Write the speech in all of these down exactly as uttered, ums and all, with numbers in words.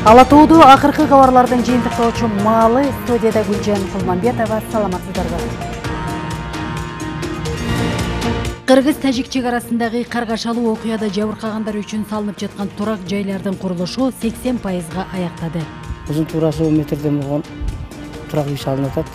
Ала Тоодо акыркы кабарлардын жыйынтыктоочу маалы. Студияда Гүлжан Кулманбетова. Саламатсыздарбы. Кыргыз-тажик чек арасындагы каргашалуу окуяда жабыркагандар үчүн салынып жаткан турак жайлардын курулушу сексен пайызга аяктады. Узун туурасы он метрден болгон турак үй салынып атат.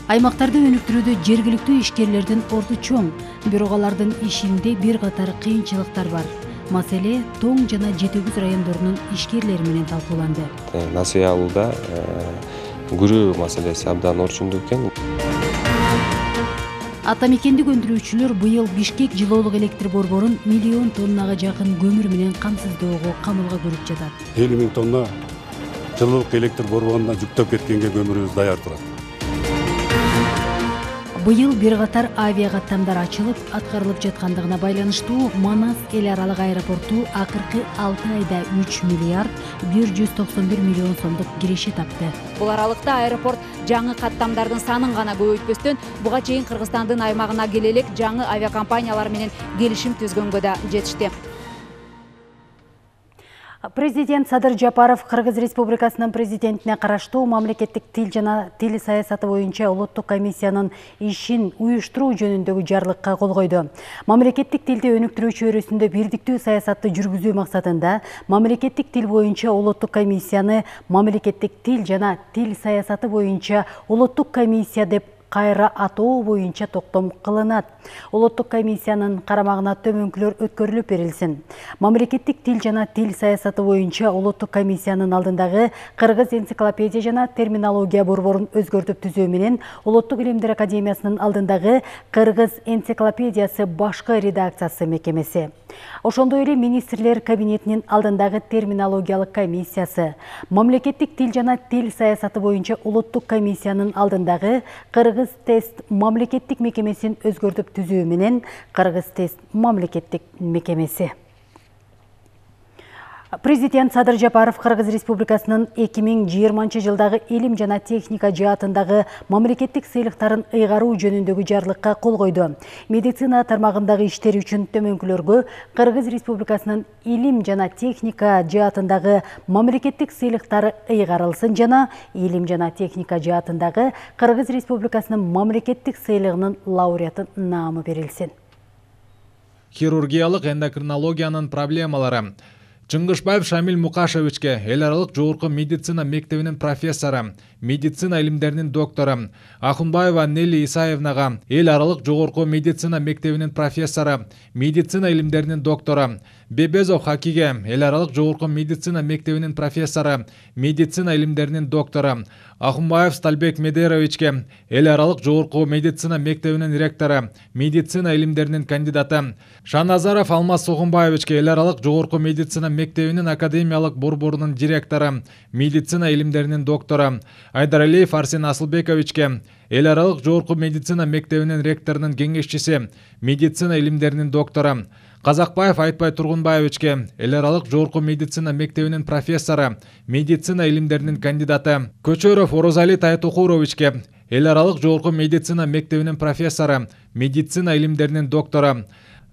Аймактарды өнүктүрүүдө жергиликтүү ишкерлердин орду чоң, бирок алардын ишинде бир катар кыйынчылыктар бар. Маселе Тоң жана Жети-Күз райондорунун ишкерлери менен талкууланды. Насыя алууда күрөө маселеси абдан орчундуу экен. Ата мекендик өндүрүүчүлөр быйыл Бишкек жылоолук электр борборун миллион тоннага жакын көмүр менен камсыздоого камылга көрүп жатат. элүү миң тонна жылоолук электр борборунан жүктөп кеткенге көмүрүбүз даяр турат. Быйыл бир катар авиа каттамдар ачылып, аткарылып жаткандыгына байланыштуу Манас эл аралык аэропорту акыркы алты айда үч миллиард бир жүз токсон бир миллион сомдук киреше тапты. Бул аралыкта аэропорт жаңы каттамдардын санын гана көбөйтпөстөн, буга чейин Кыргызстандын аймагына келе элек жаңы авиакомпаниялар менен келишим түзгөнгө да жетишти. Президент Садыр Жапаров Кыргыз Республикасынын президентине караштуу мамлекеттик тил жана тил саясаты боюнча улуттук комиссиянын ишин уюштуруу жөнүндөгү жарлыкка кол койду. Мамлекеттик тилди өнүктүрүү чөйрөсүндө бирдиктүү саясатты жүргүзүү максатында мамлекеттик тил боюнча улуттук комиссияны мамлекеттик тил жана тил саясаты боюнча улуттук комиссия деп кайра атоо боюнча токтом кылынат. Улуттук комиссиянын карамагына төмөнкүлөр өткөрүлүп берилсин. Мамлекеттик тил жана тил саясаты боюнча улуттук комиссиянын алдындагы Кыргыз энциклопедия жана терминология борборун өзгөртүп түзүү менен Улуттук илимдер академиясынын алдындагы Кыргыз энциклопедиясы башкы редакциясы мекемеси. Ошондой эле министрлер кабинетинин алдындагы терминологиялык комиссиясы, мамлекеттик тил жана тил саясаты боюнча улуттук комиссиянын алдындагы Кыргыз тест мамлекеттик мекемесин өзгөртүп түзүү менен Кыргыз тест мамлекеттик мекемеси. Президент Садыр Жапаров Кыргыз Республикасынын эки миң жыйырманчы жылдагы илим жана техника жаатындагы мамлекеттик сыйлыктарын ыйгаруу жөнүндөгү жарлыкка кол койду. Медицина тармагындагы иштери үчүн төмөнкүлөргө Кыргыз Республикасынын илим жана техника жаатындагы мамлекеттик сыйлыктары ыйгарылсын жана илим жана техника жаатындагы Кыргыз Республикасынын мамлекеттик сыйлыгынын лауреаты наамы берилсин. Хирургиялык эндокринологиянын проблемалары. Чыңгышбаев Шамил Мукашевичке, эл аралык жогорку медицина мектебинин профессору, медицина илимдеринин доктору, Ахунбаева Нелли Исаевнага, эл аралык жогорку медицина мектебинин профессору, медицина илимдеринин доктору, Бебезов Хакиге, эл аралык жогорку медицина мектебинин профессору, медицина илимдеринин доктору, Ахунбаев Стальбек Медеровичке, эл аралык жогорку медицина мектебинин ректору, медицина илимдеринин кандидаты, Шаназаров Алмаз Сухумбаевичке, эл аралык жогорку медицина мектебинин академиялык борборунун директору, медицина илимдеринин доктору, Айдаралиев Арсен Асылбековичке, эл аралык жогорку медицина мектебинин ректорунун кеңешчиси, медицина илимдеринин доктору, Казакбаев Айтбай Тургунбаевичке, эл аралык жогорку медицина мектебинин профессору, медицина илимдеринин кандидаты, Көчөров Орозали Тайтукуровичке, эл аралык жогорку медицина мектебинин профессору, медицина илимдеринин доктору,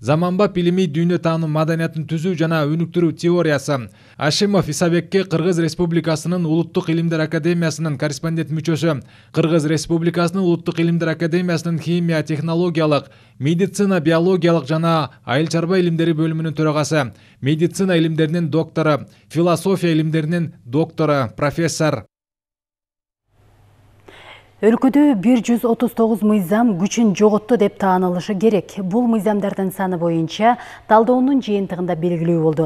Заманбап илимий дүйнө таануу маданиятын түзүү жана өнүктүрүү теориясы, Ашимов Исабекке Кыргыз Республикасынын Улуттук илимдер академиясынын корреспондент мүчөсү, Кыргыз Республикасынын Улуттук илимдер академиясынын химия, технологиялык, медицина, биологиялык жана айыл чарба илимдери бөлүмүнүн төрагасы, медицина илимдеринин доктору, философия илимдеринин доктору, профессор. Өлкөдө бир жүз отуз тогуз мыйзам күчүн жоготту деп таанылышы керек. Бул мыйзамдардын саны боюнча талдоонун жыйынтыгында белгилүү болду.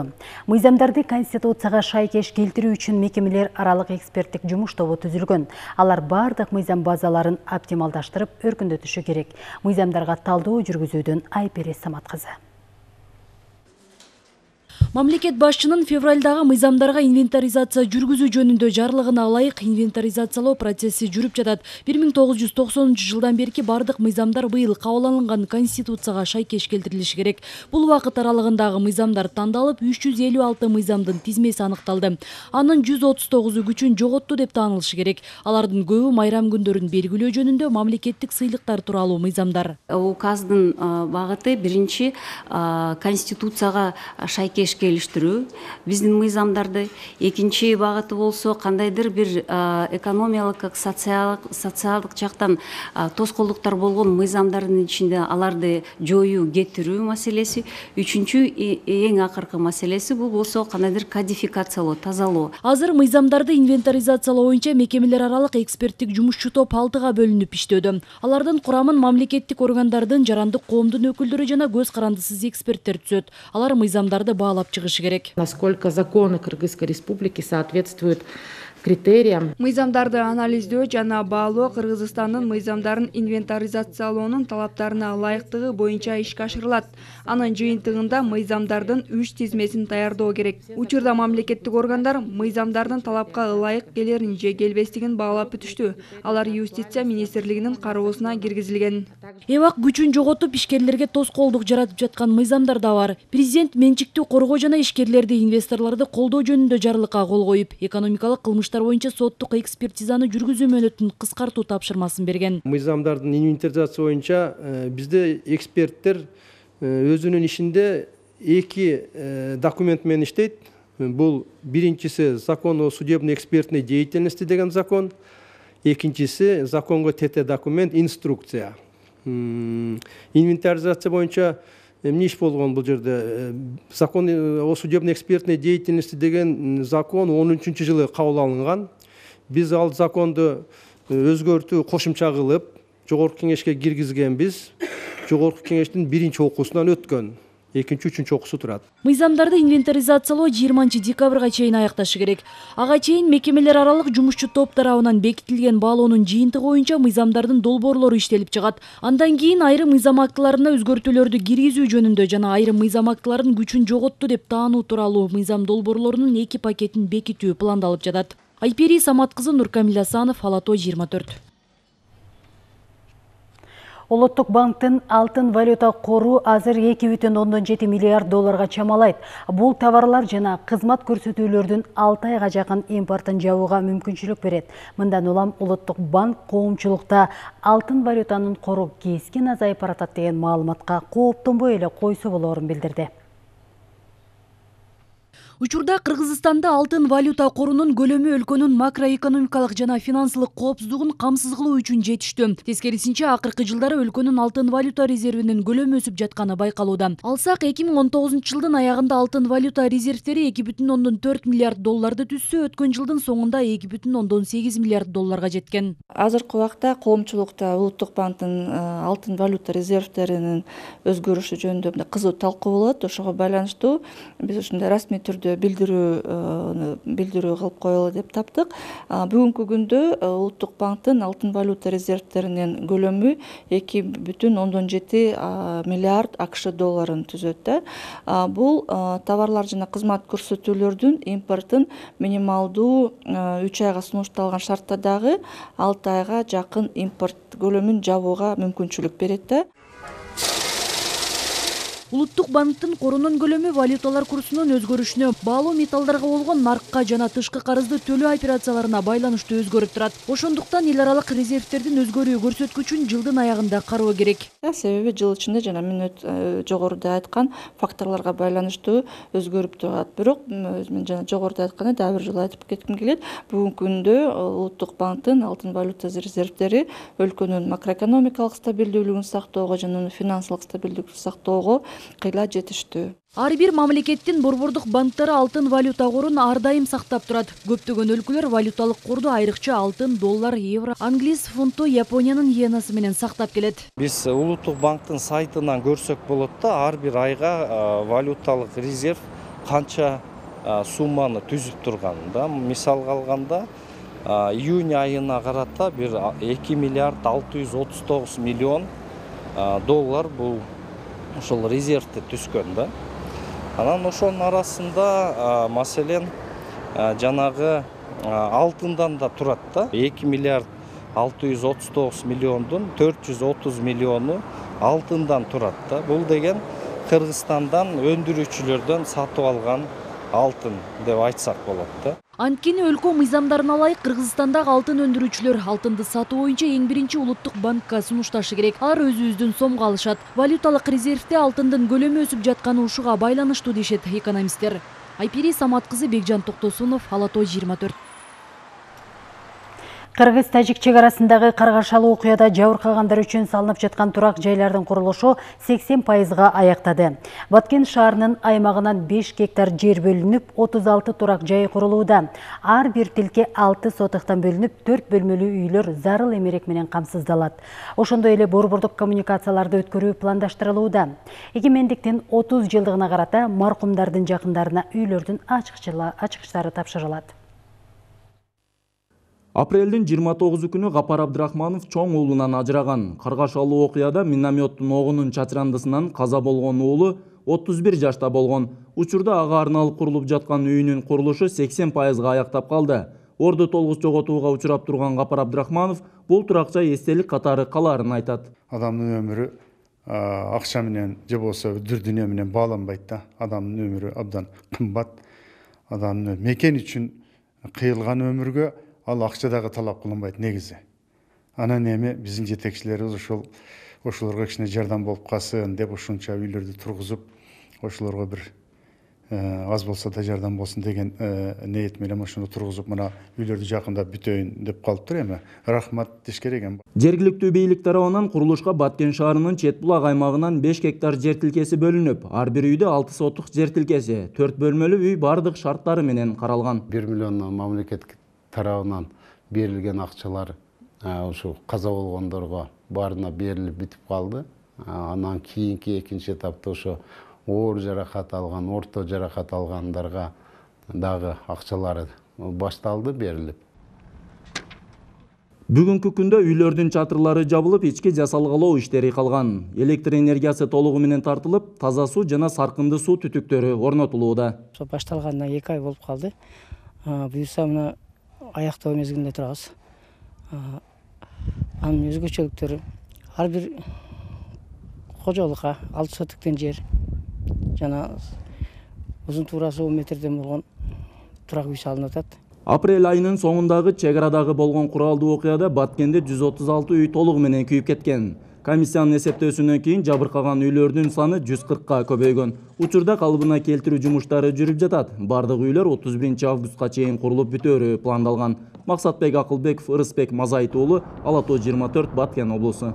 Мыйзамдарды Конституцияга шайкеш келтирүү үчүн мекемелер аралык эксперттик жумуш тобу түзүлгөн. Алар бардык мыйзам базаларын оптималдаштырып өркүндөтүшү керек. Мыйзамдарга талдоо жүргүзүүдөн Айпере Самат кызы. Мамлекет башчынын февралдагы мыйзамдарга инвентаризация жүргүзүү жөнүндө жарлыгына ылайык инвентаризациялоо процесси жүрүп жатат. бир миң тогуз жүз токсонунчу жылдан берки бардык мыйзамдар быйыл кабыл алынган Конституцияга шайкеш келтирилиши керек. Бул убакыт аралыгындагы мыйзамдар тандалып, үч жүз элүү алты мыйзамдын тизмеси аныкталды. Анын жүз отуз тогузу күчүн жоготту деп таанылышы керек. Алардын көбү майрам күндөрүн белгилөө жөнүндө мамлекеттик сыйлыктар тууралуу мыйзамдар. Указдын багыты биринчи Конституцияга шайкеш ишкерлештирүү биздин мыйзамдарды. Экинчи багыты болсо кандайдыр бир экономиялык, социалдык жактан тоскоолдуктар болгон мыйзамдардын ичинде аларды жоюу, кетирүү маселеси. Үчүнчү эң акыркы маселеси бул болсо кандайдыр кодификациялоо, тазалоо. Азыр мыйзамдарды инвентаризациялоо боюнча мекемелер аралык эксперттик жумушчу топ алтыга бөлүнүп иштөөдө. Алардын курамын мамлекеттик органдардын, жарандык коомдун өкүлдөрү жана көз карандысыз эксперттер түзөт. Алар мыйзамдарды баалап чыгышы керек. Насколько законы Кыргызской республики соответствуют критериям. Мыйзамдарды анализдөө жана баалоо Кыргызстандын мыйзамдарын инвентаризациялоонун талаптарына ылайыктыгы боюнча ишке ашырылат. Анын жыйынтыгында мыйзамдардын үч тизмесин даярдоо керек. Учурда мамлекеттик органдар мыйзамдардын талапка ылайык келерин же келбестигин баалап бүтүштү. Алар юстиция министрлигинин кароосуна киргизилген. Эбак күчүн жоготуп ишкерлерге тоскоолдук жаратып жаткан мыйзамдар да бар. Президент менчикти коргоо жана ишкерлерди, инвесторлорду колдоо жөнүндө жарлыкка кол коюп, экономикалык кылмыш боюнча соттук экспертизаны жүргүзүү мөөнөтүн кыскартуу тапшырмасын берген. Мыйзамдардын инвентаризация боюнча бизде эксперттер өзүнүн ишинде эки документ менен иштейт. Бул биринчиси закон о судебной экспертной деятельности деген закон, экинчиси законго тете документ инструкция. Инвентаризация боюнча эмне иш болгон бул жерде? Закон о судебной экспертной деятельности деген закон он үчүнчү жылы кабыл алынган. Биз ал законду өзгөртүү, кошумча кылып, жогорку кеңешке киргизгенбиз. Жогорку кеңештин биринчи окуусунан өткөн. Экинчи, үчүнчү окуусу турат. Мыйзамдарды инвентаризациялоо жыйырманчы декабрга чейин аякташы керек. Ага чейин мекемелер аралык жумушчу топ тарабынан бекитилген баалоонун жыйынтыгы боюнча мыйзамдардын долбоорлору иштелип чыгат. Андан кийин айрым мыйзам актыларына өзгөртүүлөрдү киргизүү жөнүндө жана айрым мыйзам актыларынын күчүн жоготту деп таануу тууралуу мыйзам долбоорлорунун эки пакетин бекитүү пландалып жатат. Айпери Самат кызы, Нуркамил Асанов, Алато жыйырма төрт. Улуттук банктын алтын валюта кору азыр эки бүтүн ондон жети миллиард долларга чамалайт. Бул товарлар жана кызмат көрсөтүүлөрдүн алты айга жакын импортун жабууга мүмкүнчүлүк берет. Мындан улам Улуттук банк коомчулукта алтын валютанын кору кескин азайып баратат деген маалыматка кооптонбой эле койсо болорун билдирди. Учурда Кыргызстанда алтын валюта корунун көлөмү өлкөнүн макроэкономикалык жана финансылык коопсуздугун камсыз кылуу үчүн жетиштүү. Тескерисинче, акыркы жылдары өлкөнүн алтын валюта резервинин көлөмү өсүп жатканы байкалууда. Алсак, эки миң он тогузунчу жылдын аягында алтын валюта резервтери эки бүтүн ондон төрт миллиард долларды түзсө, өткөн жылдын соңунда эки бүтүн ондон сегиз миллиард долларга жеткен. Азыркы убакта коомчулукта Улуттук банктын алтын валюта резервтеринин өзгөрүшү жөнүндө кызуу талкуу болот. Ошого байланыштуу биз ушундай расмий түрдө билдирүү билдирүү кылып коелу деп таптык. Бүгүнкү күндө Улуттук банктын алтын валюта резервтеринин көлөмү эки бүтүн ондон жети миллиард акш долларын түзөт. Бул товарлар жана кызмат көрсөтүүлөрдүн импортун минималдуу үч айга сунушталган шартта дагы алты айга жакын импорт көлөмүн жабууга мүмкүнчүлүк берет. Улуттук банктын корунун көлөмү валюталар курсунун өзгөрүшүнө, баалуу металлдарга болгон наркка жана тышкы карызды төлөө операцияларына байланыштуу өзгөрүп турат. Ошондуктан эл аралык резервтердин өзгөрүү көрсөткүчүн жылдын аягында кароо керек. Себеби жыл ичинде жана мен жогоруда айткан факторлорго байланыштуу өзгөрүп турат. Бирок мен жана жогоруда айткандай дагы бир жолу айтып кетким келет. Бүгүнкү күндө Улуттук банктын алтын валюта резервтери өлкөнүн макроэкономикалык стабилдүүлүгүн сактоого жана финансылык стабилдүүлүктү сактоого кыйла жетиштүү. Ар бир мамлекеттин борбордук банктары алтын валюта корун ар дайым сактап турат. Көптөгөн өлкөлөр валюталык корду айрыкча алтын, доллар, евро, англис фунту, Япониянын иенасы менен сактап келет. Биз Улуттук банктын сайтынан көрсөк болот да, ар бир айга валюталык резерв канча сумманы түзүп турганын да. Мисалга алганда, июнь айына карата бир эки миллиард алты жүз отуз тогуз миллион доллар бул ошол резервте түскөн да. Анан ошонун арасында маселен жанагы алтындан да турат да. эки миллиард алты жүз отуз тогуз миллиондун төрт жүз отуз миллиону алтындан турат да. Бул деген Кыргызстандан өндүрүүчүлөрдөн сатып алган алтын деп айтсак болот да. Анткени өлкө мыйзамдарына ылайык Кыргызстандагы алтын өндүрүүчүлөр алтынды сатуу боюнча эң биринчи улуттук банкка сунушташы керек. Алар өзүбүздүн сомго алышат. Валюталык резервде алтындын көлөмү өсүп жатканы ушуга байланыштуу дешет экономисттер. Айпири Самат кызы, Бекжан Токтосунов, Ала Тоо жыйырма төрт. Кыргыз-Тажик чегарасындагы каргашалуу окуяда жабыркагандар үчүн салынып жаткан турак жайлардын курулушу сексен пайызга аяктады. Баткен шаарынын аймагынан беш гектар жер бөлүнүп, отуз алты турак жай курулууда. Ар бир тилке алты сотыктан бөлүнүп, төрт бөлмөлүү үйлөр зарыл эмерек менен камсыздалат. Ошондой эле борбордук коммуникацияларды өткөрүү пландаштырылууда. Эгемендиктин отуз жылдыгына карата маркумдардын жакындарына үйлөрдүн ачкычтары тапшырылат. Апрелдин жыйырма тогузу күнү Гапар Абдрахманов чоң уулунан ажыраган. Каргашалуу окуяда минометтин огунун чачырандысынан каза болгон уулу отуз бир жашта болгон. Учурда ага арналып курулуп жаткан үйүнүн курулушу сексен пайызга аяктап калды. Орду толугу жоготууга учурап турган Гапар Абдрахманов бул турак жай эстелик катары калаарын айтат. Адамдын өмүрү акча менен же болбосо дүр дүйнө менен бааланбайт да. Адамдын өмүрү абдан кымбат. Адамдын мекен үчүн кыйылган өмүргө ал акча дагы талап кылынбайт негизи. Анан эми биздин жетекчилерибиз ошол ошолорго кичине жардам болуп калсын деп ушунча үйлөрдү тургузуп, ошолорго бир аз болсо да жардам болсун деген ниет менен ошону тургузуп, мына үйлөрдү жакындап бүтөйүн деп калыптыр. Эми рахмат деш керек эми. Жергиликтүү бийлик тарабынан курулушка Баткен шаарынын чет булак аймагынан беш гектар жер тилкеси бөлүнүп, ар бир үйдө алты сотук жер тилкеси, төрт бөлмөлүү үй бардык шарттары менен каралган. бир миллион мамлекет тарабынан берилген акчалар ушу каза болгондорго баарына берилип бүтүп калды. Анан кийинки экинчи этапта ошо оор жаракат алган, орто жаракат алгандарга дагы акчалары башталды, берилип. Бүгүнкү күндө үйлөрдүн чатырлары жабылып, ички жасалгалоо иштери калган. Электр энергиясы толугу менен тартылып, таза суу жана саркынды суу түтүктөрү орнотулууда. Башталгандан эки ай болуп калды. Буюрса мына аяктоо мезгилинде турабыз. Анын өзгөчөлүктөрү ар бир кожолукка алты сотуктен жер жана узун туурасы он метрден болгон турак үй салынып атат. Апрель айынын соңундагы чек арадагы болгон куралдуу окуяда Баткенде жүз отуз алты үй толугу менен күйүп кеткен. Комиссиянын эсептөөсүнөн кийин жабыркаган үйлөрдүн саны жүз кыркка көбөйгөн. Учурда калыбына келтирүү жумуштары жүрүп жатат. Бардык үйлөр отуз биринчи августка чейин курулуп бүтөөрү пландалган. Максатбек Акылбеков, Ырысбек Мазайт уулу, Ала Тоо жыйырма төрт, Баткен облусу.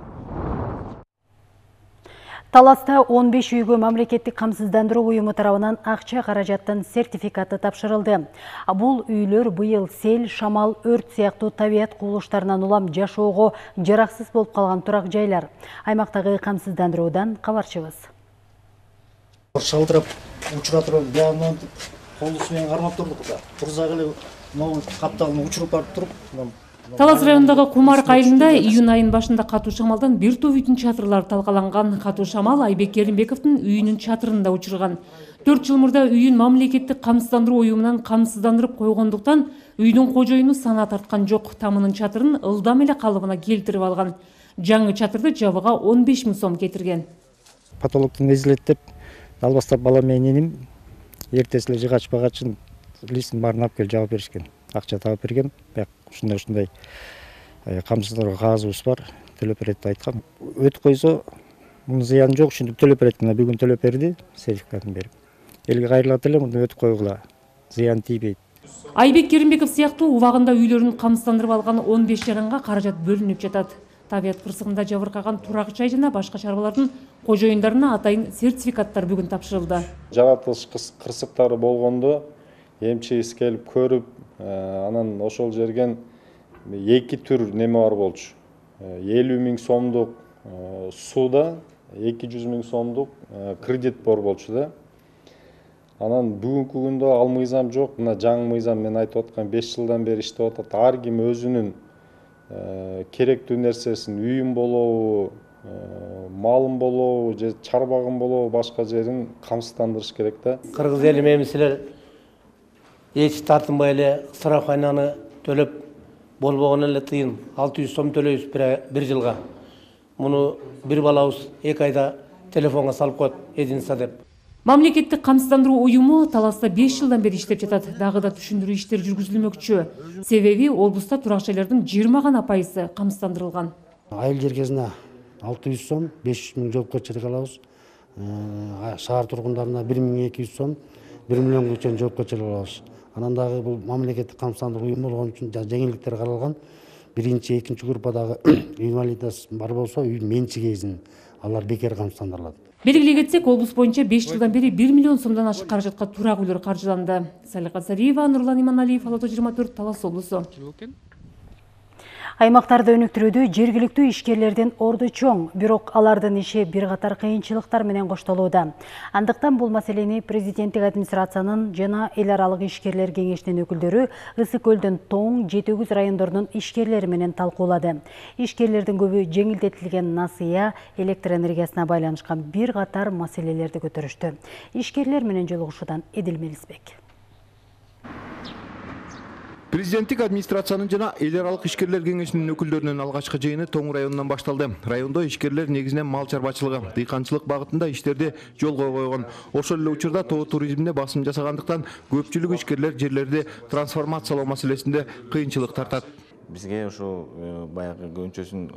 Таласта он беш үйгө мамлекеттик камсыздандыруу уюму тарабынан акча каражаттын сертификаты тапшырылды. Бул үйлөр быйыл сел, шамал, өрт сыяктуу табият кубулуштарынан улам жашоого жараксыз болуп калган турак жайлар. Аймактагы камсыздандыруудан кабарчыбыз. Шалтырап, учура туруп, биягынан колусу менен кармап турдук да. Турзак эле могу капталын учуруп барып туруп, Талас районундагы Кумарк айылында июнь айынын башында катуу шамалдан бир топ үйдүн чатырлары талкаланган. Катуу шамал Айбек Керимбековдун үйүнүн чатырында учурган. төрт жыл мурда үйүн мамлекеттик камсыздандыруу уюмунан камсыздандырып койгондуктан үйдүн кожоюну сана тарткан жок. Тамынын чатырын ылдам эле калыбына келтирип алган. Жаңы чатырды жабыга он беш миң сом кетирген. Потолоктун эзилет албастап бала менен эним эртеси эле жыгач багачын листин баарын алып келип жабып беришкен. Акча таап берген. Ушундай ушундай камсыздандыруу кагазыбыз бар. Төлөп берет деп айткан. Өтүп койсо мунун зыяны жок, ушинтип төлөп берет. Мына бүгүн төлөп берди, сертификатын берип. Элге кайрылат эле, муну өтүп койгула. Зыян тийбейт. Айбек Керимбеков сыяктуу убагында үйлөрүн камсыздандырып алган он беш жаранга каражат бөлүнүп жатат. Табият кырсыгында жабыркаган турак жай жана башка чарбалардын кожоюндарына атайын сертификаттар бүгүн тапшырылды. Жаратылыш кырсыктары болгондо эмчегиси келип көрүп, анан ошол жерген эки түр неме бар болчу. элүү миң сомдук сууда эки жүз миң сомдук кредит бар болчу да. Анан бүгүнкү күндө ал мыйзам жок. Мына жаңы мыйзам мен айтып аткан беш жылдан бери иштеп атат. Ар ким өзүнүн керектүү нерсесин, үйүм болобу, малым болобу, же чарбагым болобу, башка жерин камсыздандырыш керек да. Кыргыз эли мемисилер эч тартынбай эле страховканы төлөп болбогон эле тыйын алты жүз сом төлөйбүз бир жылга. Муну бир балабыз эки айда телефонго салып коет, единса деп. Мамлекеттик камсыздандыруу уюму Таласта беш жылдан бери иштеп жатат. Дагы да түшүндүрүү иштери жүргүзүлмөкчү. Себеби облуста турак жайлардын жыйырма гана пайызы камсыздандырылган. Айыл жергесине алты жүз сом, беш жүз миң жоопкерчилик алабыз. Шаар тургундарына бир миң эки жүз сом, бир миллионго чейин жоопкерчилик алабыз. Анан дагы бул мамлекеттик камсыздандыруу уюму болгон үчүн жеңилдиктер каралган. Биринчи, экинчи группадагы инвалидас бар болсо, үйдүн менчигесин алар бекер камсыздандырылат. Белгилей кетсек, облус боюнча беш жылдан бери бир миллион сомдон ашык каражатка турак үйлөр каржыланды. Салика Сариева, Нурлан Иманалиев, Ала тоо жыйырма төрт, Талас облусу. Аймактарды өнүктүрүүдө жергиликтүү ишкерлердин орду чоң, бирок алардын иши бир катар кыйынчылыктар менен коштолууда. Андыктан бул маселени президенттик администрациянын жана эл аралык ишкерлер кеңешинин өкүлдөрү Ысык көлдүн Тоң, Жети Өгүз райондорунун ишкерлери менен талкуулады. Ишкерлердин көбү жеңилдетилген насыя, электр энергиясына байланышкан бир катар маселелерди көтөрүштү. Ишкерлер менен жолугушуудан Эдил Мелисбек. Президенттик администрациянын жана эл аралык ишкерлер кеңешинин өкүлдөрүнүн алгачкы жыйыны Тоң районунан башталды. Райондо ишкерлер негизинен мал чарбачылыгы, дыйканчылык багытында иштерди жолго койгон. Ошол эле учурда тоо туризмине басым жасагандыктан көпчүлүк ишкерлер жерлерди трансформациялоо маселесинде кыйынчылык тартат. Бизге ошо баягы көбүнчөсүн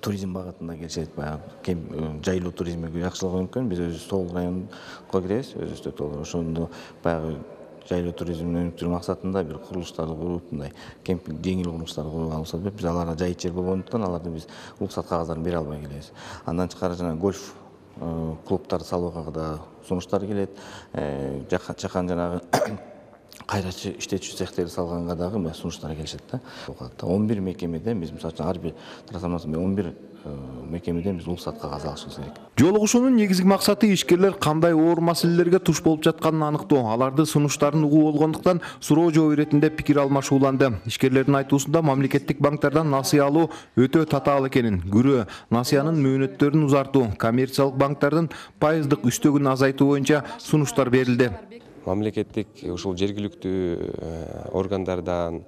туризм багытында келишет, баягы жайлуу туризмге жакшылыгы мүмкүн. Биз өзүбүз Тоол районго киребиз, өзүбүздө Тоол. Ошондо баягы жайлуу туризмди өнүктүрүү максатында бир курулуштарды куруп, мындай кемпинг жеңил курулуштарды куруп алсак, биз аларга жайыт жер болгондуктан аларды биз уруксат кагаздарын бере албай келебиз. Андан тышкары жана гольф клубтарды салууга да сунуштар келет. Жакан жанагы кайрачы иштетүүчү цехтерди салганга дагы сунуштар келишет да. он бир мекемеден биз мисалы үчүн ар бир трансформация он бир мекемеден биз уруксат кагаз алышыбыз керек. Жолугушуунун негизги максаты ишкерлер кандай оор маселелерге туш болуп жатканын аныктоо, аларды сунуштарын угуу болгондуктан суроо жооп иретинде пикир алмашууланды. Ишкерлердин айтуусунда мамлекеттик банктардан насыя алуу өтө татаал экенин, күрөө, насыянын мөөнөттөрүн узартуу, коммерциялык банктардын пайыздык үстөгүн азайтуу боюнча сунуштар берилди. Мамлекеттик ушул жергиликтүү органдардан,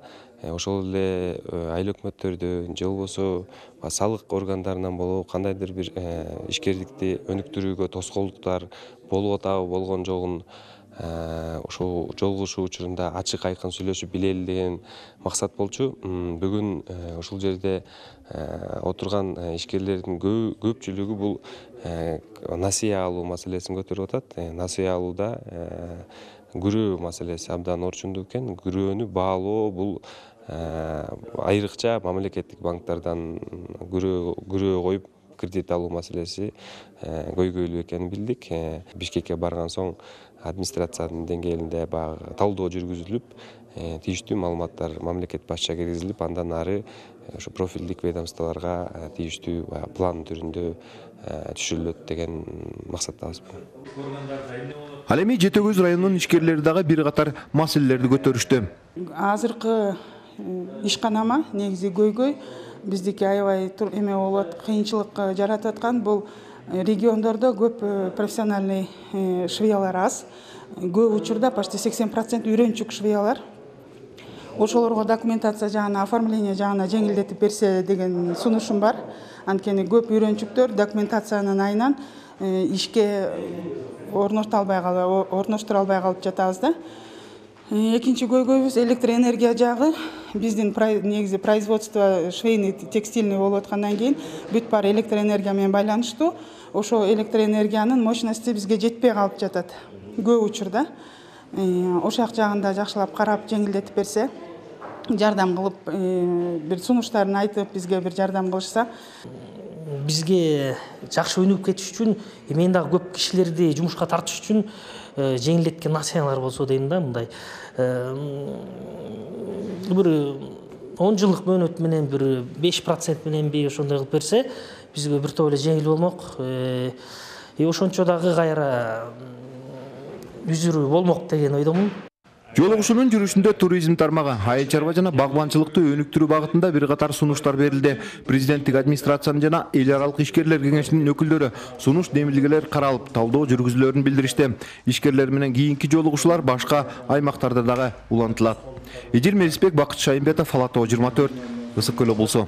ошол эле айыл өкмөттөрдөн же болбосо салык органдарынан болобу кандайдыр бир ишкерликти өнүктүрүүгө тоскоолдуктар болуп атабы болгон жогун ошол жолугушуу учурунда ачык айкын сүйлөшүп билели деген максат болчу. Бүгүн ушул жерде отурган ишкерлердин көпчүлүгү бул насыя алуу маселесин көтөрүп атат. Насыя алууда күрөө маселеси абдан орчундуу экен. Күрөөнү баалоо бул айрыкча мамлекеттик банктардан күрөө коюп кредит алуу маселеси көйгөйлүү экенин билдик. Бишкекке барган соң администрациянын деңгээлинде баягы талдоо жүргүзүлүп, тийиштүү маалыматтар мамлекет башчыга киргизилип, андан ары ошо профилдик ведомстволорго тийиштүү план түрүндө түшүрүлөт деген максаттабыз. Ал эми Жети Өгүз районунун ишкерлери дагы бир катар маселелерди көтөрүштү. Азыркы ишканама негизи көйгөй биздики аябай эме болот, кыйынчылык жаратып аткан бул региондордо көп профессиональный швеялар аз. Көп учурда почти сексен процент үйрөнчүк швеялар. Ошолорго документация жагына, оформление жагына жеңилдетип берсе деген сунушум бар. Анткени көп үйрөнчүктөр документациянын айынан ишке орношто албай калып, орноштура албай калып жатабыз да. Экинчи көйгөйүбүз электроэнергия жагы. Биздин негизи производство швейный текстильный болуп аткандан кийин бүт баары электроэнергия менен байланыштуу. Ошо электроэнергиянын мощности бизге жетпей калып жатат көп учурда. Ошак жагында жакшылап карап жеңилдетип берсе, жардам кылып, бир сунуштарын айтып, бизге бир жардам кылышса. Бизге жакшы өнүгүп кетиш үчүн, мен дагы көп кишилерди жумушка тартыш үчүн жеңилдеткен насыялар болсо дейм да, мындай. Бир он жылдык мөөнөт менен бир беш процент менен би ошондой кылып берсе, бизге бир топ эле жеңил болмок. И ошончо дагы кайра үзүрүү болмок деген ойдомун. Жолугушуунун жүрүшүндө туризм тармагы, айыл чарба жана багбанчылыкты өнүктүрүү багытында бир катар сунуштар берилди. Президенттик администрациянын жана эл аралык ишкерлер кеңешинин өкүлдөрү сунуш демилгелер каралып, талдоо жүргүзүлөрүн билдиришти. Ишкерлер менен кийинки жолугушуулар башка аймактарда дагы улантылат. Эдил Мелисбек, Бакыт Шайымбетов, Ала тоо жыйырма төрт, Ысык көл облусу.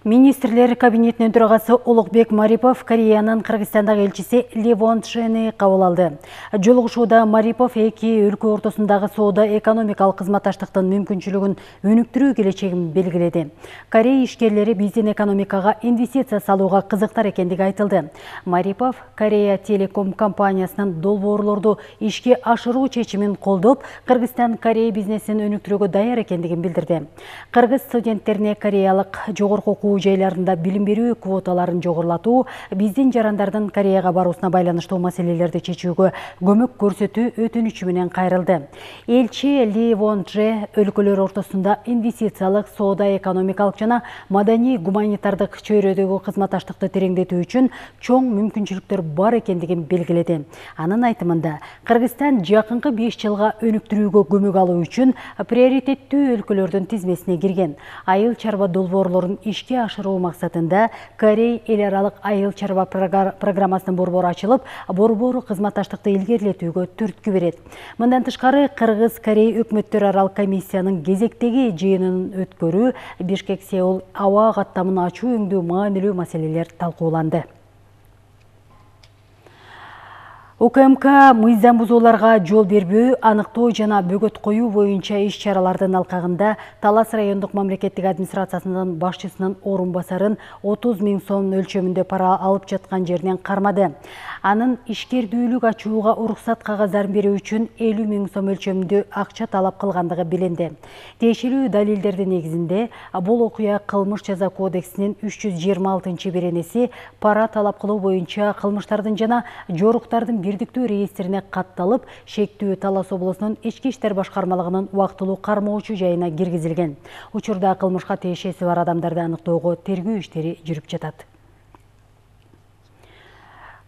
Министрлер кабинетинин төрагасы Улукбек Марипов Кореянын Кыргызстандагы элчиси Левон Чжени кабыл алды. Жолугушууда Марипов эки өлкө ортосундагы соода-экономикалык кызматташтыктын мүмкүнчүлүгүн өнүктүрүү келечегин белгиледи. Корея ишкерлери биздин экономикага инвестиция салууга кызыктар экендиги айтылды. Марипов Корея Телеком компаниясынын долбоорлорду ишке ашыруу чечимин колдоп, Кыргызстан Корея бизнесин өнүктүрүүгө даяр экендигин билдирди. Кыргыз студенттерине кореялык жогорку окуу жайларында билим берүү квоталарын жогорулатуу, биздин жарандардын Кореяга баруусуна байланыштуу маселелерди чечүүгө көмөк көрсөтүү өтүнүчү менен кайрылды. Элчи Ли Вон Дже өлкөлөр ортосунда инвестициялык, соода-экономикалык жана маданий-гуманитардык чөйрөдөгү кызматташтыкты тереңдетүү үчүн чоң мүмкүнчүлүктөр бар экендигин белгиледи. Анын айтымында, Кыргызстан жакынкы беш жылга өнүктүрүүгө көмөк алуу үчүн приоритеттүү өлкөлөрдүн тизмесине кирген. Айыл чарба долбоорлорун ишке ашыруу максатында Корей эл аралык айыл чарба программасынын борбору ачылып, борбору кызматташтыкты илгерилетүүгө түрткү берет. Мындан тышкары, Кыргыз-Корей өкмөттөр аралык комиссиянын кезектеги жыйынын өткөрүү, Бишкек-Сеул аба каттамын ачуу өңдүү маанилүү маселелер талкууланды. УКМК мыйзам бузууларга жол бербөө, аныктоо жана бөгөт коюу боюнча иш-чаралардын алкагында Талас райондук мамлекеттик администрациясынын башчысынын орун басарын отуз миң сом өлчөмүндө пара алып жаткан жеринен кармады. Анын ишкердүүлүк ачууга уруксат кагаздарын берүү үчүн элүү миң сом өлчөмүндө акча талап кылгандыгы билинди. Тиешелүү далилдердин негизинде бул окуя Кылмыш жаза кодексинин үч жүз жыйырма алтынчы беренеси пара талап кылуу боюнча кылмыштардын жана жоруктардын бирдиктүү реестрине катталып, шектүү Талас облусунун ички иштер башкармалыгынын убактылуу кармоочу жайына киргизилген. Учурда кылмышка тиешеси бар адамдарды аныктоого тергөө иштери жүрүп жатат.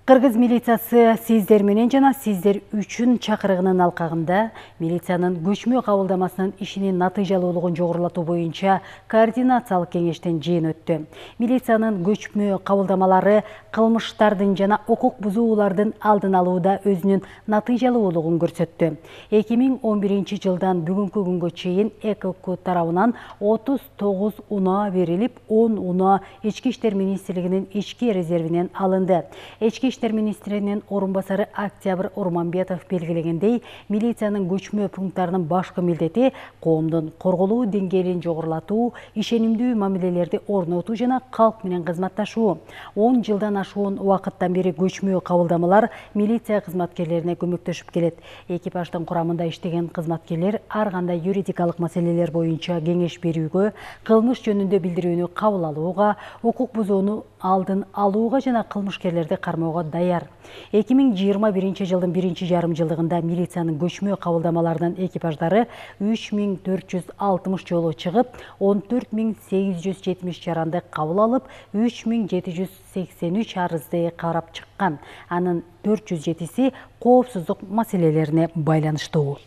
Кыргыз милициясы сиздер менен жана сиздер үчүн чакырыгынын алкагында милициянын көчмө кабылдамасынын ишинин натыйжалуулугун жогорулатуу боюнча координациялык кеңештин жыйыны өттү. Милициянын көчмө кабылдамалары кылмыштардын жана укук бузуулардын алдын алууда өзүнүн натыйжалуулугун көрсөттү. эки миң он биринчи жылдан бүгүнкү күнгө чейин ЭКОК тарабынан отуз тогуз унаа берилип, он унаа Ички иштер министрлигинин ички резервинен алынды. Ички иштер министринин орун басары Октябрь Урманбетов белгилегендей, милициянын көчмө пункттарынын башкы милдети коомдун корголуу деңгээлин жогорулатуу, ишенимдүү мамилелерди орнотуу жана калк менен кызматташуу. он жылдан ашуун убакыттан бери көчмө кабылдамалар милиция кызматкерлерине көмөктөшүп келет. Экипаждын курамында иштеген кызматкерлер ар кандай юридикалык маселелер боюнча кеңеш берүүгө, кылмыш жөнүндө билдирүүнү кабыл алууга, укук бузууну алдын алууга жана кылмышкерлерди кармоого даяр. эки миң жыйырма биринчи жылдын биринчи жарым жылдыгында милициянын көчмө кабылдамаларынын экипаждары үч миң төрт жүз алтымыш жолу чыгып, он төрт миң сегиз жүз жетимиш жаранды кабыл алып, үч миң жети жүз сексен үч арызды карап чыккан. Анын төрт жүз жетиси коопсуздук маселелерине байланыштуу.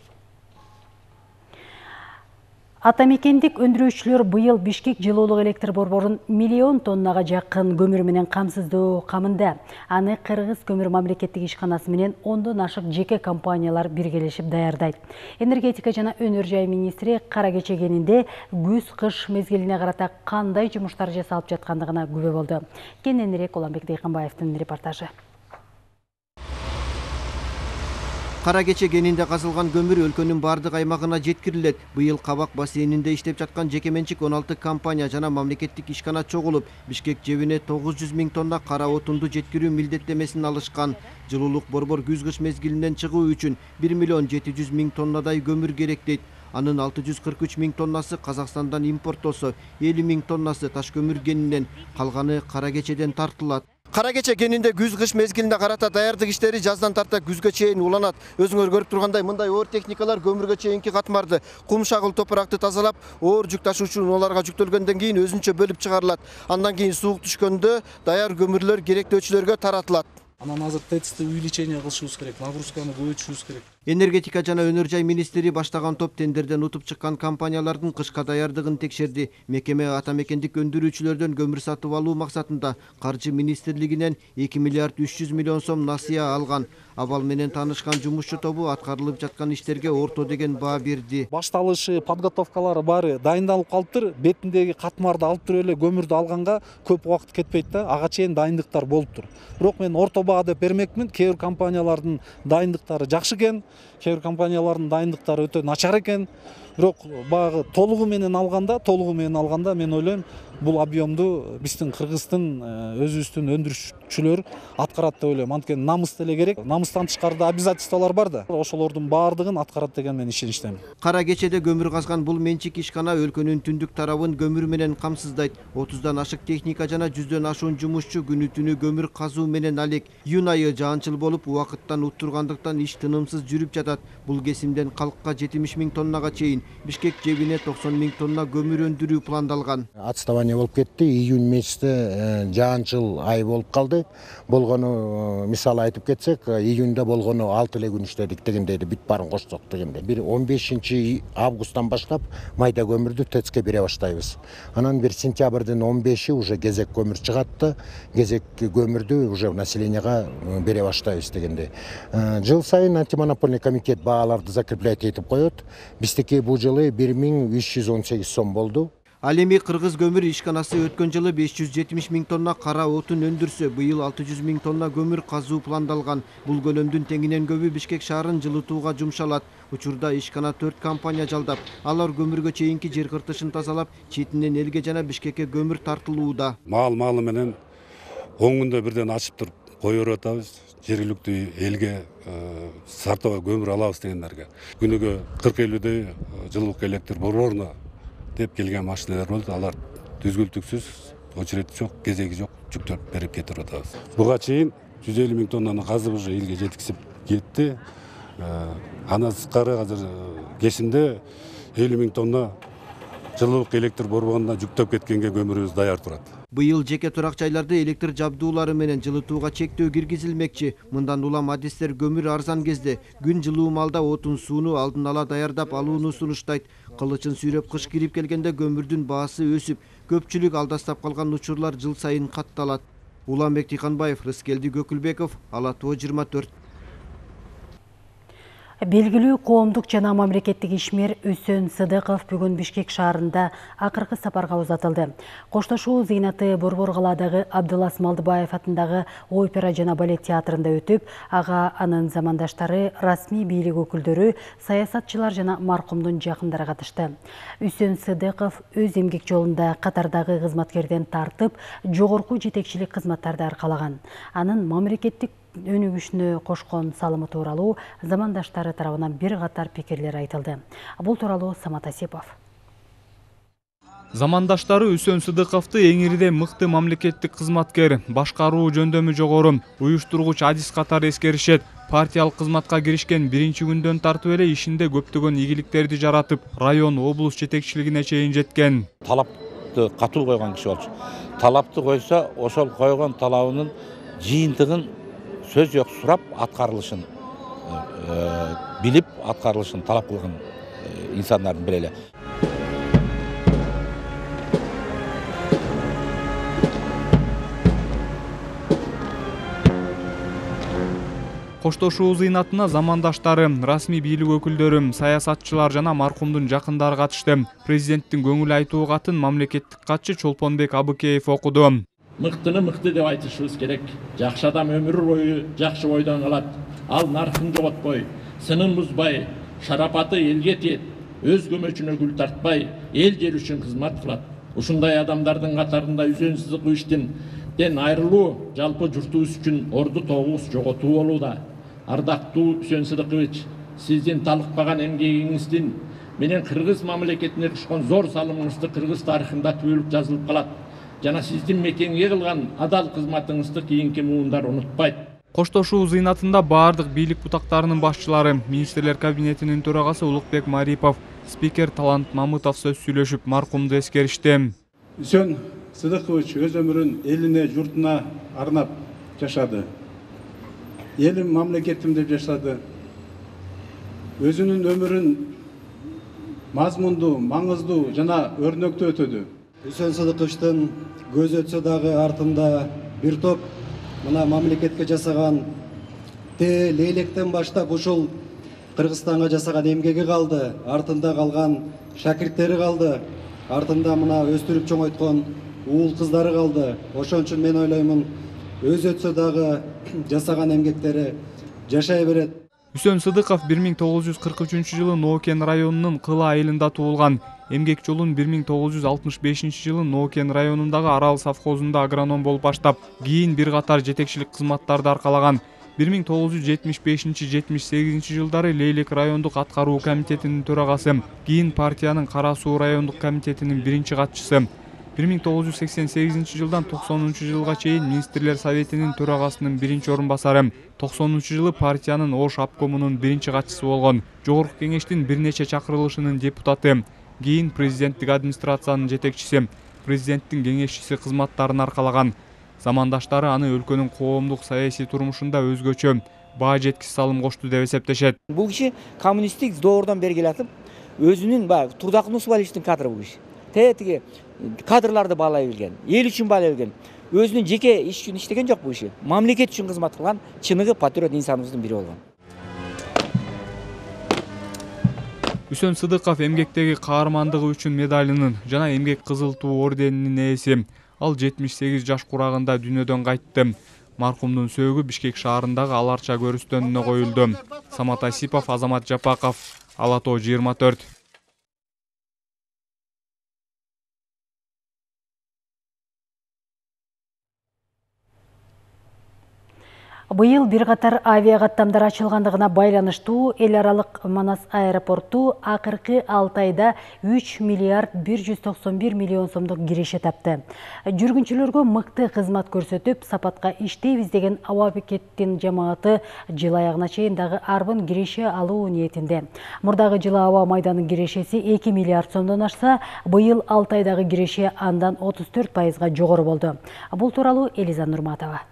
Атамекендик өндүрүүчүлөр быйыл Бишкек жылуулук электр борборун миллион тоннага жакын көмүр менен камсыздоо камында. Аны Кыргыз көмүр мамлекеттик ишканасы менен ондон ашык жеке компаниялар биргелешип даярдайт. Энергетика жана өнөр жай министри кара кече кенинде күз-кыш мезгилине карата кандай жумуштар жасалып жаткандыгына күбө болду. Кененирээк Уланбек Дыйканбаевдин репортажы. Кара кече кенинде казылган көмүр өлкөнүн бардык аймагына жеткирилет. Быйыл Кабак бассейнинде иштеп жаткан жеке менчик он алты компания жана мамлекеттик ишкана чогулуп, Бишкек жебине тогуз жүз миң тонна кара отунду жеткирүү милдеттемесин алышкан. Жылуулук борбор күз-кыш мезгилинен чыгуу үчүн бир миллион жети жүз миң тоннадай көмүр керек дейт. Анын алты жүз кырк үч миң тоннасы Казакстандан импорттосо, элүү миң тоннасы таш көмүр кенинен, калганы кара кечеден тартылат. Кара кече кенинде күз-кыш мезгилине карата даярдык иштери жаздан тарта күзгө чейин уланат. Өзүңөр көрүп тургандай мындай оор техникалар көмүргө чейинки катмарды, кум шагыл топуракты тазалап, оор жүк ташуучу унааларга жүктөлгөндөн кийин өзүнчө бөлүп чыгарылат. Андан кийин суук түшкөндө даяр көмүрлөр керектөөчүлөргө таратылат. Анан азыр тецти увеличение кылышыбыз керек, нагрузканы көбөйтүшүбүз керек. Энергетика жана өнөр жай министри баштаган топ тендерден утуп чыккан компаниялардын кышка даярдыгын текшерди. Мекеме ата мекендик өндүрүүчүлөрдөн көмүр сатып алуу максатында каржы министрлигинен эки миллиард үч жүз миллион сом насыя алган. Абал менен таанышкан жумушчу тобу аткарылып жаткан иштерге орто деген баа берди. Башталышы, подготовкалары баары дайындалып калыптыр. Бетиндеги катмарды алып туруп эле көмүрдү алганга көп убакыт кетпейт да. Ага чейин дайындыктар болуптур. Бирок мен орто баа деп бермекмин. Кээ бир компаниялардын дайындыктары жакшы экен, кээ бир компаниялардын дайындыктары өтө начар экен. Бирок баягы толугу менен алганда, толугу менен алганда мен ойлойм, бул объемду биздин Кыргыздын өзүбүздүн өндүрүүчүлөр аткарат деп ойлойм. Анткени намыс деле керек. Намыстан тышкарыда обязательстволор бар да. Ошолордун баардыгын аткарат деген мен ишеничтемин. Кара кечеде көмүр казган бул менчик ишкана өлкөнүн түндүк тарабын көмүр менен камсыздайт. отуздан ашык техника жана жүздөн ашуун жумушчу күнү түнү көмүр казуу менен алек. Июнь айы жаанчыл болуп, убакыттан уттургандыктан иш тынымсыз жүрүп жатат. Бул кесимден калкка жетимиш миң тоннага чейин, Бишкек жебине токсон миң тонна көмүр өндүрүү пландалган. Отставание болуп кетти. Июнь месяцте жаанчыл ай болуп калды. Болгону мисалы айтып кетсек, июньда болгону алты эле күн иштедик дегендейди, бүт баарын кошсок дегенде. Бир он бешинчи августтан баштап майда көмүрдү ТЭЦке бере баштайбыз. Анан бир сентябрдын он беши уже кезек көмүр чыгат да, кезек көмүрдү уже населенияга бере баштайбыз дегенде. Жыл сайын антимонопольный комитет бааларды закреплять этип коет. Биздики бул жылы бир миң үч жүз он сегиз сом болду. Ал эми Кыргыз көмүр ишканасы өткөн жылы беш жүз жетимиш миң тонна кара отун өндүрсө, быйыл алты жүз миң тонна көмүр казуу пландалган. Бул көлөмдүн теңинен көбү Бишкек шаарын жылытууга жумшалат. Учурда ишкана төрт компания жалдап, алар көмүргө чейинки жер кыртышын тазалап, четинен элге жана Бишкекке көмүр тартылууда. Маал-маалы менен он күндө бирден ачып туруп коюп атабыз. Жергиликтүү элге сартова көмүр алабыз дегендерге. Күнүгө кырк элүүдөй жылуулук электр борборуна деп келген машиналар болду. Алар түзгүлтүксүз, очереди жок, кезеги жок, жүктөп берип кетип атабыз. Буга чейин жүз элүү миң тоннаны казып уже элге жеткизип кетти. Андан сырткары азыр кесимде элүү миң тонна жылуулук электр борборуна жүктөп кеткенге көмүрүбүз даяр турат. Быйыл жеке турак жайларды электр жабдуулары менен жылытууга чектөө киргизилмекчи. Мындан улам адистер көмүр арзан кезде күн жылуу маалда отун сууну алдын ала даярдап алууну сунуштайт. Кылычын сүйрөп кыш кирип келгенде көмүрдүн баасы өсүп, көпчүлүк алдастап калган учурлар жыл сайын катталат. Уланбек Тыйканбаев, Рыскелди Көкүлбеков, Ала Тоо жыйырма төрт. Белгилүү коомдук жана мамлекеттик ишмер Үсөн Сыдыков бүгүн Бишкек шаарында акыркы сапарга узатылды. Коштошуу зыйнаты Борбор калаадагы Абдылас Малдыбаев атындагы опера жана балет театрында өтүп, ага анын замандаштары, расмий бийлик өкүлдөрү, саясатчылар жана маркумдун жакындары катышты. Үсөн Сыдыков өз эмгек жолунда катардагы кызматкерден тартып, жогорку жетекчилик кызматтарды аркалаган. Анын мамлекеттик өнүгүшүнө кошкон салымы тууралуу замандаштары тарабынан бир катар пикирлер айтылды. Бул тууралуу Самат Асипов. Замандаштары Үсөн Сыдыковду эңирде мыкты мамлекеттик кызматкер, башкаруу жөндөмү жогору, уюштургуч адис катары эскеришет. Партиялык кызматка киришкен биринчи күндөн тартып эле ишинде көптөгөн ийгиликтерди жаратып, район, облус жетекчилигине чейин жеткен. Талапты катуу койгон киши болчу. Талапты койсо, ошол койгон талабынын жыйынтыгын сөз жок сурап аткарылышын билип аткарылышын талап кылган инсандардын бири эле. Коштошуу зыйнатына замандаштары, расмий бийлик өкүлдөрү, саясатчылар жана маркумдун жакындары катышты. Президенттин көңүл айтуу катын мамлекеттик катчы Чолпонбек Абыкеев окуду. Мыктыны мыкты деп айтышыбыз керек. Жакшы адам өмүр бою жакшы бойдон калат. Ал наркын жоготпой, сынын бузбай, шарапаты элге тиет, өз көмөчүнө гүл тартпай, эл жер үчүн кызмат кылат. Ушундай адамдардын катарында Үсөн Сыдыковден айрылуу жалпы журтубуз үчүн орду тогуз жоготуу болууда. Ардактуу Үсөн Сыдыкович, сиздин талыкпаган эмгегиңиздин менен кыргыз мамлекетине кошкон зор салымыңызды кыргыз тарыхында түбөлүк жазылып калат. Жана сиздин мекенге кылган адал кызматыңызды кийинки муундар унутпайт. Коштошуу зыйнатында баардык бийлик бутактарынын башчылары, министрлер кабинетинин төрагасы Улукбек Марипов, спикер Талант Мамытов сөз сүйлөшүп, маркумду эскеришти. Үсөн Сыдыкович өз өмүрүн элине, журтуна арнап жашады. Элим, мамлекетим деп жашады. өзүнүн өмүрүн мазмундуу, маңыздуу жана өрнөктүү өтөдү. Үсөн Сыдыковичтин көз өтсө дагы артында бир топ мына мамлекетке жасаган те лейлектен баштап ушул Кыргызстанга жасаган эмгеги калды, артында калган шакирттери калды, артында мына өстүрүп чоңойткон уул кыздары калды. Ошон үчүн мен ойлоймун, өз өтсө дагы жасаган эмгектери жашай берет. Үсөн Сыдыков бир миң тогуз жүз кырк үчүнчү жылы Ноокен районунун Кыла айылында туулган. Эмгек жолун бир миң тогуз жүз алтымыш бешинчи жылы Ноокен районундагы Арал совхозунда агроном болуп баштап, кийин бир катар жетекчилик кызматтарды аркалаган. бир миң тогуз жүз жетимиш бешинчи — жетимиш сегизинчи жылдары Лейлек райондук аткаруу комитетинин төрагасы, кийин партиянын Кара Суу райондук комитетинин биринчи катчысы. бир миң тогуз жүз сексен сегизинчи жылдан токсонунчу жылга чейин министрлер советинин төрагасынын биринчи орун басары, токсонунчу жылы партиянын Ош обкомунун биринчи катчысы болгон, Жогорку кеңештин бир нече чакырылышынын депутаты, кийин президенттик администрациянын жетекчиси, президенттин кеңешчиси кызматтарын аркалаган. Замандаштары аны өлкөнүн коомдук саясий турмушунда өзгөчө баа жеткис салым кошту деп эсептешет. Бул киши коммунисттик доордон бери келатып, өзүнүн баягы Турдак Нусубалиевичтин кадры бул киши. Тетиги кадрларды баалай билген, эл үчүн баалай билген, өзүнүн жеке иш үчүн иштеген жок бул киши. Мамлекет үчүн кызмат кылган чыныгы патриот инсаныбыздын бири болгон. Үсөн Сыдыков эмгектеги каармандыгы үчүн медалынын жана эмгек кызыл туу орденинин ээси. Ал жетимиш сегиз жаш курагында дүйнөдөн кайтты. Маркумдун сөөгү Бишкек шаарындагы Аларча көрүстөнүнө коюлду. Самат Асипов, Азамат Жапаков, Ала Тоо жыйырма төрт. Быйыл бир катар авиа каттамдар ачылгандыгына байланыштуу эл аралык Манас аэропорту акыркы алты айда үч миллиард бир жүз токсон бир миллион сомдук киреше тапты. Жүргүнчүлөргө мыкты кызмат көрсөтүп, сапатка иштейбиз деген аба бекеттин жамааты жыл аягына чейин дагы арбын киреше алуу ниетинде. Мурдагы жылы аба майданын кирешеси эки миллиард сомдон ашса, быйыл алты айдагы киреше андан отуз төрт пайызга жогору болду. Бул тууралуу Элиза Нурматова.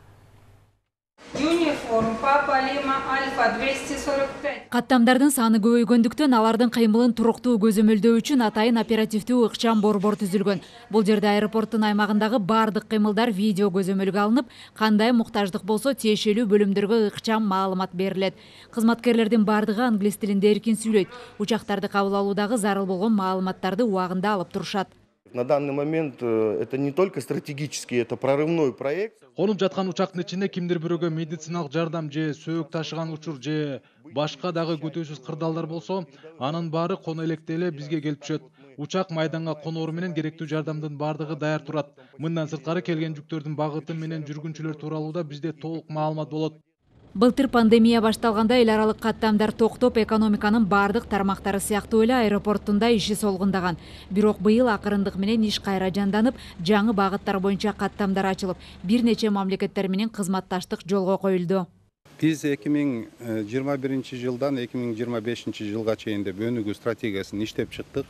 Юниформ Папа Лима Альфа двести сорок пять. Каттамдардын саны көбөйгөндүктөн алардын кыймылын туруктуу көзөмөлдөө үчүн атайын оперативдүү ыкчам борбор түзүлгөн. Бул жерде аэропорттун аймагындагы бардык кыймылдар видео көзөмөлгө алынып, кандай муктаждык болсо тиешелүү бөлүмдөргө ыкчам маалымат берилет. Кызматкерлердин бардыгы англис тилинде эркин сүйлөйт. Учактарды кабыл алуудагы зарыл болгон маалыматтарды убагында алып турушат. На данный момент это не только стратегический, это прорывной проект. Конуп жаткан учактын ичинде кимдир бирөөгө медициналык жардам же сөөк ташыган учур же башка дагы күтүүсүз кырдаалдар болсо, анын баары коно электе эле бизге келип түшөт. Учак майданга коноору менен керектүү жардамдын бардыгы даяр турат. Мындан сырткары келген жүктөрдүн багыты менен жүргүнчүлөр тууралуу да бизде толук маалымат болот. Былтыр пандемия башталганда эл аралык каттамдар токтоп, экономиканын бардык тармактары сыяктуу эле аэропорттунда иши солгундаган. Бирок быйыл акырындык менен иш кайра жанданып, жаңы багыттар боюнча каттамдар ачылып, бир нече мамлекеттер менен кызматташтык жолго коюлду. Биз эки миң жыйырма биринчи жылдан эки миң жыйырма бешинчи жылга чейин деп өнүгүү стратегиясын иштеп чыктык.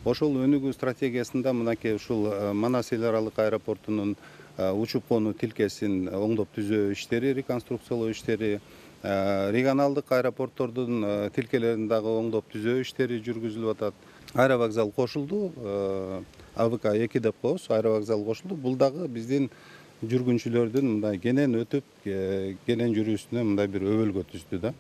Ошол өнүгүү стратегиясында мынакей ушул Манас эл аралык аэропортунун учуп конуу тилкесин оңдоп түзөө иштери, реконструкциялоо иштери, регионалдык аэропорттордун тилкелерин дагы оңдоп түзөө иштери жүргүзүлүп атат. Аэровокзал кошулду, А В К эки деп коебуз, аэровокзал кошулду. Бул дагы биздин жүргүнчүлөрдүн мындай кенен өтүп, кенен жүрүүсүнө мындай бир өбөлгө түздү да.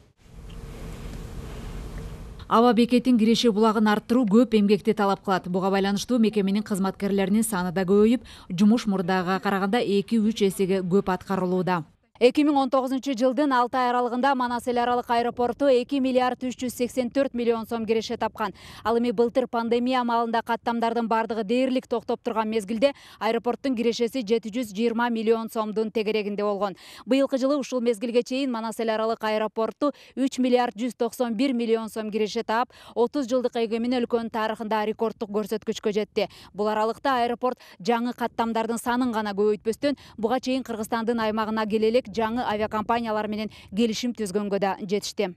Аба бекеттин киреше булагын арттыруу көп эмгекти талап кылат. Буга байланыштуу мекеменин кызматкерлеринин саны да көбөйүп, жумуш мурдагыга караганда эки үч эсеге көп аткарылууда. эки миң он тогузунчу жылдын алты ай аралыгында Манас эл аралык аэропорту эки миллиард үч жүз сексен төрт миллион сом киреше тапкан. Ал эми былтыр пандемия маалында каттамдардын бардыгы дээрлик токтоп турган мезгилде аэропорттун кирешеси жети жүз жыйырма миллион сомдун тегерегинде болгон. Быйылкы жылы ушул мезгилге чейин Манас эл аралык аэропорту үч миллиард жүз токсон бир миллион сом киреше таап, отуз жылдык эгемени өлкөнүн тарыхында рекордтук көрсөткүчкө жетти. Бул аралыкта аэропорт жаңы каттамдардын санын гана көбөйтпөстөн, буга чейин Кыргызстандын аймагына келелек жаңы авиакомпаниялар менен келишим түзгөнгө да жетишти.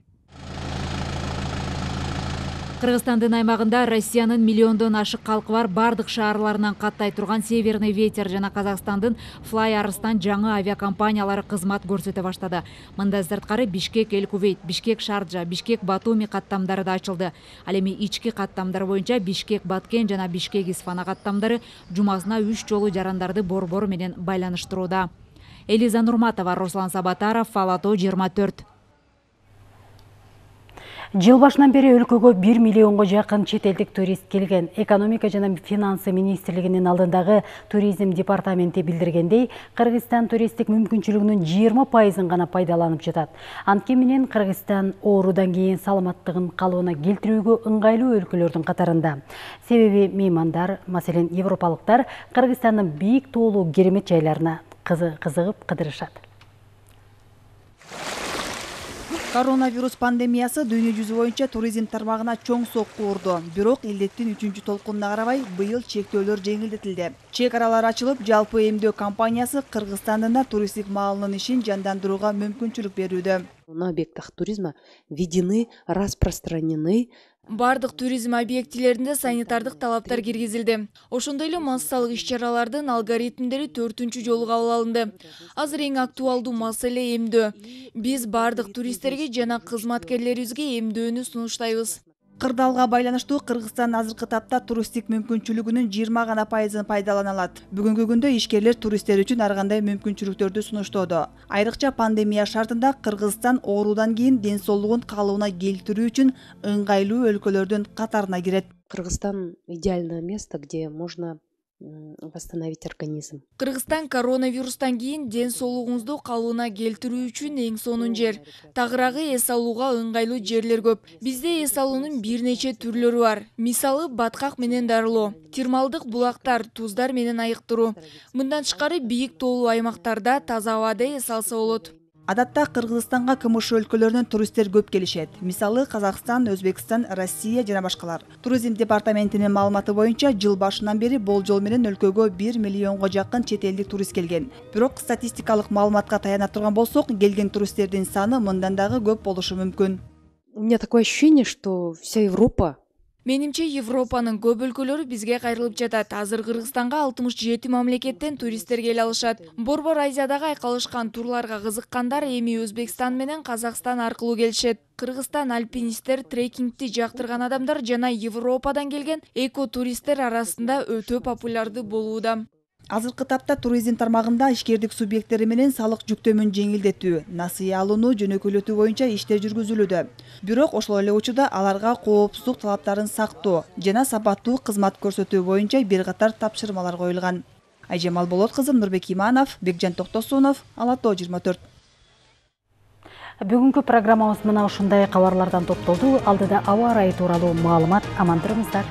Кыргызстандын аймагында Россиянын миллиондон ашык калкы бар бардык шаарларынан каттай турган Северный ветер жана Казакстандын Fly Арыстан жаңы авиакомпаниялары кызмат көрсөтө баштады. Мындан сырткары Бишкек Эль Кувейт, Бишкек Шарджа, Бишкек Батуми каттамдары да ачылды. Ал эми ички каттамдар боюнча Бишкек Баткен жана Бишкек Исфана каттамдары жумасына үч жолу жарандарды борбор менен байланыштырууда. Элиза Нурматова, Руслан Сабатаров, Фалато жыйырма төрт. Жыл башынан бери өлкөгө бир миллионго жакын чет элдик турист келген. Экономика жана финансы министрлигинин алдындагы туризм департаменти билдиргендей, Кыргызстан туристтик мүмкүнчүлүгүнүн жыйырма пайызын гана пайдаланып жатат. Анткени менен Кыргызстан оорудан кийин саламаттыгын калыбына келтирүүгө ыңгайлуу өлкөлөрдүн катарында. Себеби меймандар, маселен европалыктар, Кыргызстандын бийик тоолуу керемет жайларына кызыгып кыдырышат. Коронавирус пандемиясы дүйнө жүзү боюнча туризм тармагына чоң сокку урду. Бирок илдеттин үчүнчү толкунуна карабай быйыл чектөөлөр жеңилдетилди. Чек аралар ачылып, жалпы эмдөө компаниясы Кыргызстанда туристтик маалынын ишин жандандырууга мүмкүнчүлүк берүүдө. На объектах туризма введены, распространены Бардык туризм объектилеринде санитардык талаптар киргизилди. Ошондой эле массалык иш-чаралардын алгоритмдери төртүнчү жолу кабыл алынды. Азыр эң актуалдуу маселе эмдөө. Биз бардык туристтерге жана кызматкерлерибизге эмдөөнү сунуштайбыз. Кырдаалга байланыштуу Кыргызстан азыркы тапта туристтик мүмкүнчүлүгүнүн жыйырма гана пайызын пайдалана алат. Бүгүнкү күндө ишкерлер туристтер үчүн ар кандай мүмкүнчүлүктөрдү сунуштоодо. Айрыкча пандемия шартында Кыргызстан оорудан кийин ден соолугун калыбына келтирүү үчүн ыңгайлуу өлкөлөрдүн катарына кирет. Кыргызстан идеальное место, где можно восстановить организм. Кыргызстан коронавирустан кийин ден соолугуңузду калыбына келтирүү үчүн эң сонун жер. Тагыраагы эс алууга ыңгайлуу жерлер көп. Бизде эс алуунун бир нече түрлөрү бар. Мисалы баткак менен дарылоо, термалдык булактар, туздар менен айыктыруу. Мындан тышкары бийик тоолуу аймактарда таза абада эс алса болот. Адатта Кыргызстанга КМШ өлкөлөрүнөн туристтер көп келишет. Мисалы Казакстан, Өзбекстан, Россия жана башкалар. Туризм департаментинин маалыматы боюнча жыл башынан бери болжол менен өлкөгө бир миллионго жакын чет элдик турист келген. Бирок статистикалык маалыматка таяна турган болсок, келген туристтердин саны мындан дагы көп болушу мүмкүн. У меня такое ощущение, что вся Европа Менимче Европанын көп өлкөлөрү бизге кайрылып жатат. Азыр Кыргызстанга алтымыш жети мамлекеттен туристтер келе алышат. Борбор Азиядагы айкалышкан турларга кызыккандар эми Өзбекстан менен Казакстан аркылуу келишет. Кыргызстан альпинисттер, трекингти жактырган адамдар жана Европадан келген эко-туристтер арасында өтө популярдуу болууда. Азыркы тапта туризм тармагында ишкердик субъекттери менен салык жүктөмүн жеңилдетүү, насыя алууну жөнөкөйлөтүү боюнча иштер жүргүзүлүүдө. Бирок ошол эле учурда аларга коопсуздук талаптарын сактоо жана сапаттуу кызмат көрсөтүү боюнча бир катар тапшырмалар коюлган. Айжамал Болот кызы, Нурбек Иманов, Бекжан Токтосунов, Алато жыйырма төрт. Бүгүнкү программабыз мына ушундай кабарлардан топтолду. Алдыда аба ырайы тууралуу маалымат. Аман туруңуздар.